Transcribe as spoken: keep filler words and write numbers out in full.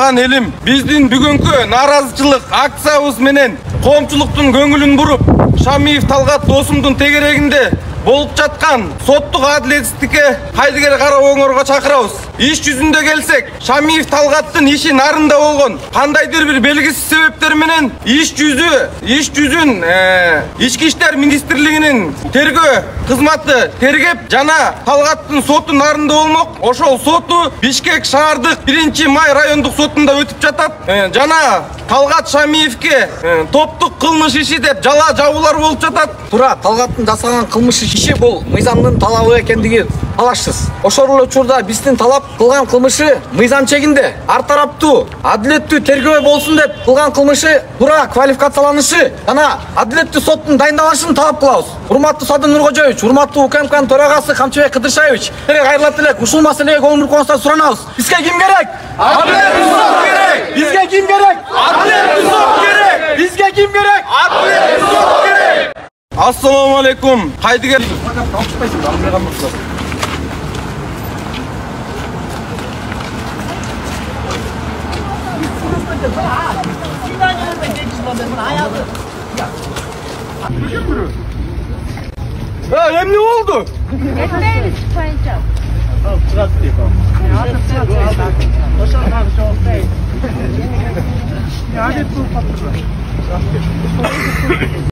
жашаган элим, биздин бүгүнкү нааразычылык акциябыз менен коомчулуктун көңүлүн буруп, Шамиев Талгат досумдун тегерегинде болуп жаткан соттук адилетсиздикке кайдыгер кароо оңорго чакырабыз. Иш жүзүндө келсек, Шамиев Талгаттын иши нарында болгон кандайдыр бир белгисиз себептер менен иш жүзү, иш жүзүн Ички иштер министрлигинин тергөө кызматы тергеп жана Талгаттын соту нарында болмок. Ошол соту Бишкек шаардык биринчи май райондук сотунда өтүп жатат. Жана Талгат Шамиевке топтук кылмыш иши деп жала жабуулар болуп жатат. Туура, Талгаттын жасаган кылмыш иши бул мыйзамдын талабы экендиги талашсыз. Ошол эле учурда биздин талап кылган кылмышы мыйзам чегинде, ар тараптуу, адилеттүү тергөө болсун деп кылган кылмышы туура квалификацияланышы жана адилеттүү соттун дайындалышын талап кылабыз. Урматтуу Садыр Нуркожоевич, урматтуу УКМКнын төрагасы Камчыбек Кыдыршаевич, кайрылат элек ушул маселеге көңүл бургонуңузду суранабыз. Бизге ким керек? Адилеттүү сот керек. Бизге ким керек? Адилеттүү сот керек. Бизге ким керек? Адилеттүү сот керек. Ассаламу алейкум. Кайдыгер Ee, emni oldu? Etmeyiz çıkmayınca. Ya,